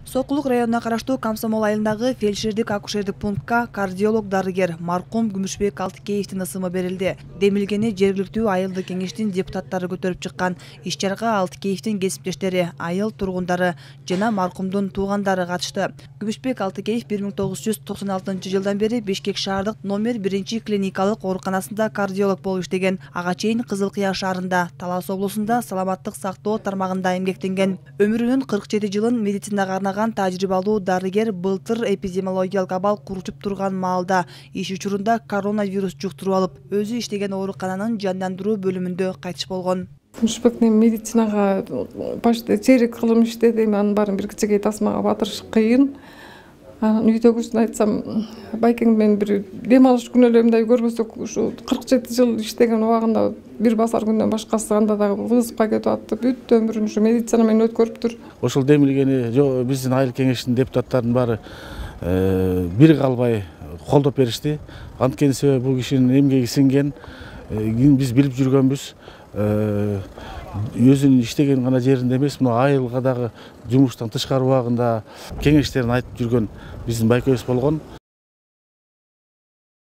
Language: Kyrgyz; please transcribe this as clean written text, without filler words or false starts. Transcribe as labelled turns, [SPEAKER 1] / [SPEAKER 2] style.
[SPEAKER 1] Сокулук районуна караштуу Комсомол айылындагы фельдшердик акушердик пунктка кардиолог-дарыгер маркум Күмүшбек Алтыкеевдин ысымы берилди. Демилгени жергиликтүү айылдык кеңештин депутаттары көтөрүп чыккан. Иш-чарага Алтыкеевдин кесиптештери, айыл тургундары жана маркумдун туугандары катышты. Күмүшбек Алтыкеев 1996-жылдан бери Бишкек шаардык номер 1 клиникалык ооруканасында кардиолог болуп иштеген. Ага чейин Кызыл Кыя шаарында, Талас облусунда саламаттык сактоо тармагында эмгектенген. Өмүрүнүн 47 жылын медицинага арнаган тажрыйбалуу дарыгер былтыр эпидемиологиялык абал курчуп турган маалда иш учурунда коронавирус жуктуруп алып, өзү иштеген оорукананын жандандыруу бөлүмүндө кайтыш болгон.
[SPEAKER 2] Күмүшбек медицинага почти чейрек кылым иштеди, анын баарын бир кичинекей тасмага батырыш кыйын. Үйдөгүсүн айтсам, байкең менен бир дем алыш күнөөлөрүмдү көрбөсөк, ушу 47 жыл иштеген убагында бир басар күндөн башкасы анда дагы вызыпка кетип атты. Бүт өмүрүн ушу медицина менен өткөрүптүр.
[SPEAKER 3] Ошол демилгени биздин айыл кеңештин депутаттарынын баары бир калбай колдоп беришти. Анткени себеби бул кишинин эмгеги сиңген, биз билип жүргөнбүз. Өзүнүн иштеген гана жеринде эмес, мына айылга дагы жумуштан тышкары убагында кеңештерин айтып жүргөн биздин байкебиз болгон.